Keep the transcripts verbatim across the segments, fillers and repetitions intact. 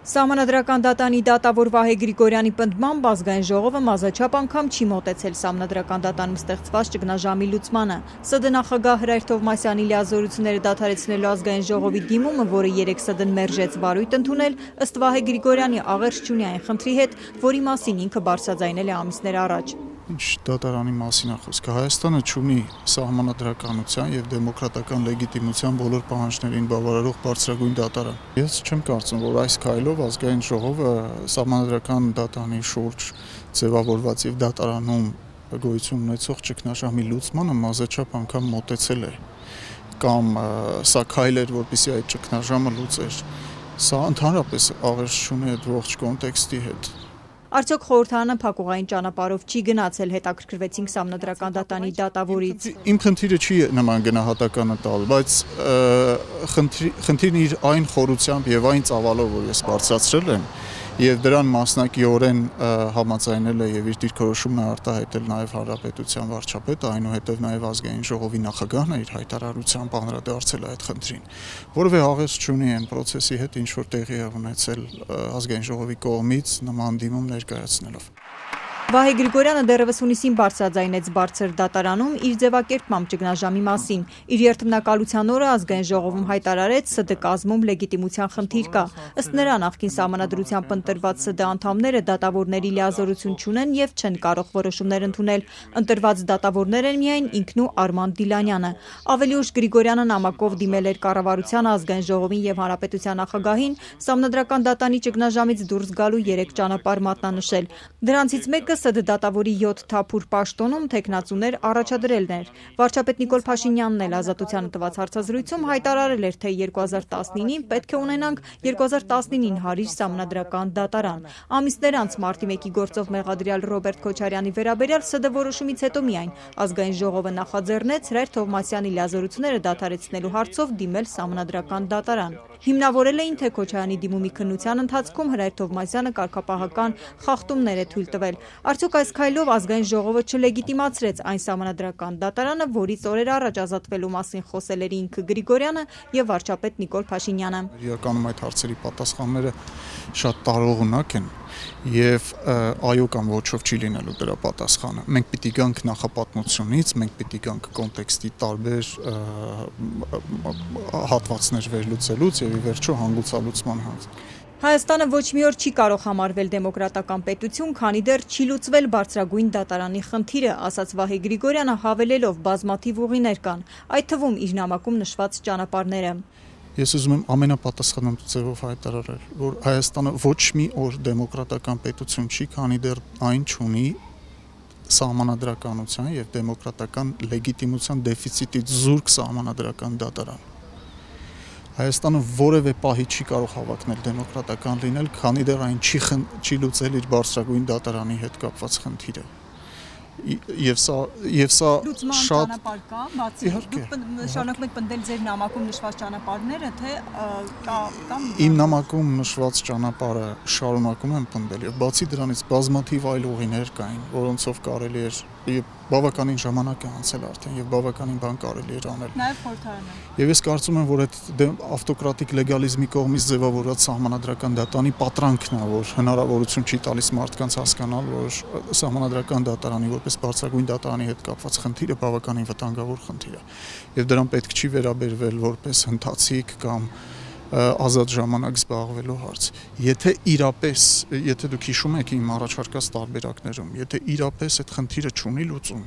Սահմանադրական դատանի դատավոր Վահե Գրիգորյանի պնդմամբ ազգային ժողովը մազաչափ անգամ չի մոտեցել Սահմանադրական դատանում ստեղծված ճգնաժամի լուծմանը։ ՍԴ նախագահ Հրայր Թովմասյանի լիազորությունները դադարեցնելու ազգային ժողովի դիմումը, որը երեկ ՍԴ-ն մերժեց վարույթ ընդունել, ըստ Վահե Գրիգորյանի աղերս չունի այն խնդրի հետ, որի մասին ինքը բարձրաձայնել է ամիսներ առաջ։ Ինչ դատարանի մասին է խոսքը։ Հայաստանը չունի սահմանադրականության եւ դեմոկրատական լեգիտիմության բոլոր պահանջներին բավարարող բարձրագույն դատարան։ Ես չեմ կարծում, որ այս քայլով ազգային ժողովը սահմանադրական դատանի շուրջ ձևավորված եւ դատարանում գոյություն ունեցող ճգնաժամի լուծմանը մազաչափ անգամ մոտեցել է կամ սա քայլ էր, որպեսզի այդ ճգնաժամը լուծեր։ Սա ընդհանրապես աղերս չունի այդ ողջ կոնտեքստի հետ։ Արդյոք խորհրդարանը փակուղային ճանապարհով չի գնացել, հետաքրքրվեցինք Սահմանադրական դատանի դատավորից։ Իմ խնդիրը չի նման գնահատականը տալ, բայց խնդիրն իր այն խորությամբ եւ այն ծավալով, որ ես բարձրացրել եմ, եւ դրան մասնակիորեն համաձայնել է եւ իր դիրքորոշումն է արտահայտել նաեւ Հանրապետության վարչապետը, այնուհետեւ նաեւ ազգային ժողովի նախագահն է իր հայտարարությամբ անդրադարձել այդ խնդրին, որովհետեւ աղերս չունի այն process-ի հետ, ինչ որ տեղի է ունեցել ազգային ժողովի կողմից նման դիմում ներկայացնելով։ Վահե Գրիգորյանը դեռևս հունիսին բարձրաձայնեց բարձր դատարանում իր ձևակերպմամբ ճգնաժամի մասին։ Իր երթմնակալության օրը ազգային ժողովում հայտարարեց ՍԴ կազմում լեգիտիմության խնդիր կա։ Ըստ նրա նախկին սահմանադրությամբ ընտրված ՍԴ անդամները դատավորների լիազորություն չունեն եւ չեն կարող որոշումներ ընդունել։ Ընտրված դատավորներ են միայն ինքն ու Արման Դիլանյանը։ Ավելի ուշ Գրիգորյանը նամակով դիմել էր կառավարության, ազգային ժողովին եւ հանրապետության նախագահին Սահմանադրական դատանի ճգնաժամից դուրս գալու երեք ճանապարհ մատնանշել։ Դրանցից մեկը ՍԴ դատավորի յոթ թափուր պաշտոնում թեկնածուներ առաջադրելն էր։ Վարչապետ Նիկոլ Փաշինյանն էլ Ազատությանը տված հարցազրույցում հայտարարել էր, թե երկու հազար տասնինին պետք է ունենանք երկու հազար տասնինին հարիր Սահմանադրական դատարան։ Ամիսներ անց մարտի մեկի գործով մեղադրյալ Ռոբերտ Քոչարյանի վերաբերյալ ՍԴ որոշումից հետո միայն ազգային ժողովը նախաձեռնեց Հրայր Թովմասյանի լիազորությունները դադարեցնելու հարցով դիմել Սահմանադրական դատարան։ Հիմնավորել էին, թե Քոչարյանի դիմումի քննության ընթացքում Հրայր Թովմասյանը կարգապահական խախտումներ է թույլ տվել։ Արդյոք այս քայլով ազգային ժողովը չլեգիտիմացրեց այն Սահմանադրական դատարանը, որից օրեր առաջ ազատվելու մասին խոսել էր ինքը Գրիգորյանը եւ վարչապետ Նիկոլ Փաշինյանը։ Իրականում այդ հարցերի պատասխանները շատ տարողունակ են եւ այո կամ ոչով չի լինելու դրա պատասխանը։ Մենք պիտի գանք նախապատմությունից, մենք պիտի գանք կոնտեքստի տարբեր հատվածներ վերլուծելուց եւ ի վերջո հանգուցալուծման հանձ։ Հայաստանը ոչ մի օր չի կարող համարվել դեմոկրատական պետություն, քանի դեռ չի լուծվել բարձրագույն դատարանի խնդիրը, ասաց Վահե Գրիգորյանը, հավելելով բազմաթիվ ուղիներ կան, այդ թվում իր նամակում նշված ճանապարհները։ Ես ուզում եմ ամենապատասխանատու ձևով հայտարարել, որ Հայաստանը ոչ մի օր դեմոկրատական պետություն չի, քանի դեռ այն չունի սահմանադրականության եւ դեմոկրատական լեգիտիմության դեֆիցիտից զուրկ սահմանադրական դատարան։ Հայաստանը որևէ պահի չի կարող հավակնել դեմոկրատական լինել, քանի դեռ այն չի, չի լուծել իր բարձրագույն դատարանի հետ կապված խնդիրը։ Եվ սա եւ սա շատ բացի շարունակում եք պնդել ձեր նամակում նշված ճանապարհները, թե կա կամ իմ նամակում նշված ճանապարհը շարունակում եմ պնդել եւ բացի դրանից բազմաթիվ այլ ուղիներ կային, որոնցով կարելի էր եւ բավականին ժամանակ է անցել արդեն եւ բավականին բան կարելի էր անել։ Նաեւ խորհրդարանը։ Եվ ես կարծում եմ, որ այդ ավտոկրատիկ լեգալիզմի կողմից ձևավորված Սահմանադրական դատանի պատրանքն է, որ հնարավորություն չի տալիս մարդկանց հասկանալ, որ Սահմանադրական դատարանի որպես բարձրագույն դատարանի հետ կապված խնդիրը բավականին վտանգավոր խնդիր է եւ դրան պետք չի վերաբերվել որպես հնդացիկ կամ ազատ ժամանակ զբաղվելու հարց։ Եթե իրապես, եթե դուք հիշում եք իմ առաջարկած տարբերակներում, եթե իրապես այդ խնդիրը չունի լուծում,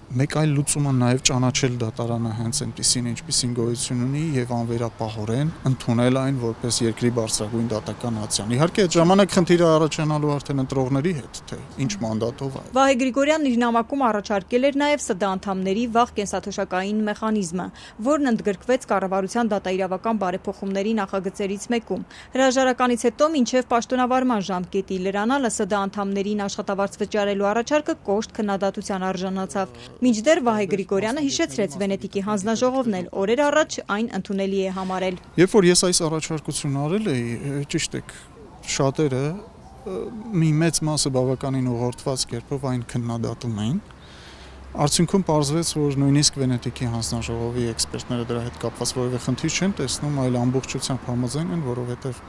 մեկ այլ լուծումը նաև ճանաչել դատարանը հենց այնպիսին, ինչպիսին գոյություն ունի եւ անվերապահորեն ընդունել այն որպես երկրի բարձրագույն դատական ացիան։ Իհարկե այդ ժամանակ խնդիրը առաջանալու արդեն ընտրողների հետ, թե ինչ մանդատով է։ Վահե Գրիգորյանն իր նամակում առաջարկել էր նաև ՍԴ անդամների վաղ կենսաթոշակային մեխանիզմը, որն ընդգրկվեց կառավարության դատաիրավական բարեփոխումների նախագծերից մեկում։ Հրաժարականից հետո մինչև պաշտոնավարման ժամկետի լրանալը ՍԴ անդամներին աշխատավարձ վճարելու առաջարկը կոշտ քննադատության արժանացավ։ Մինչդեռ Վահե Գրիգորյանը հիշեցրեց Վենետիկի հանձնաժողովն էլ օրեր առաջ այն ընդունելի է համարել։ Երբ որ ես այս առաջարկությունն արել էի, ճիշտ է, շատերը մի մեծ մասը բավականին ուղղորդված կերպով այն քննադատում էին։ Արդյունքում պարզվեց, որ նույնիսկ Վենետիկի հանձնաժողովի էքսպերտները դրա հետ կապված որևէ խնդիր չեն տեսնում, այլ ամբողջությամբ համաձայն են, որովհետև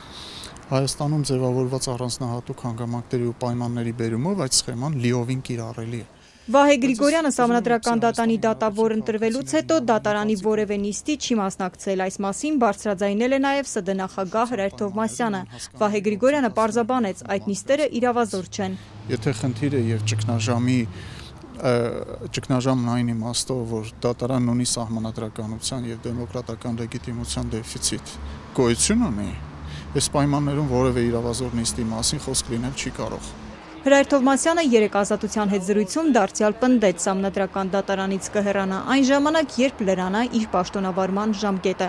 Հայաստանում ձևավորված առանձնահատուկ հանգամանքների ու պայմանների բերումով այդ սխեման լիովին կիրառելի է։ Վահե Գրիգորյանը Սահմանադրական դատանի դատավոր ընտրվելուց հետո դատարանի որևէ նիստի չի մասնակցել, այս մասին բարձրաձայնել է նաև ՍԴ նախագահ Հրայր Թովմասյանը։ Վահե Գրիգորյանը պարզաբանեց, այդ նիստերը իրավազոր չեն։ Եթե խնդիրը եւ ճգնաժամի ճգնաժամն այն իմաստով, որ դատարանն ունի սահմանադրականության եւ դեմոկրատական լեգիտիմության դեֆիցիտ գոյություն ունի, այս պայմաններում որևէ իրավազոր նիստի մասին խոսք լինել չի կարող։ Հրայր Թովմասյանը երեկ Ազատության հետ զրույցում դարձյալ պնդեց Սահմանադրական դատարանից կհեռանա այն ժամանակ, երբ լրանա իր պաշտոնավարման ժամկետը։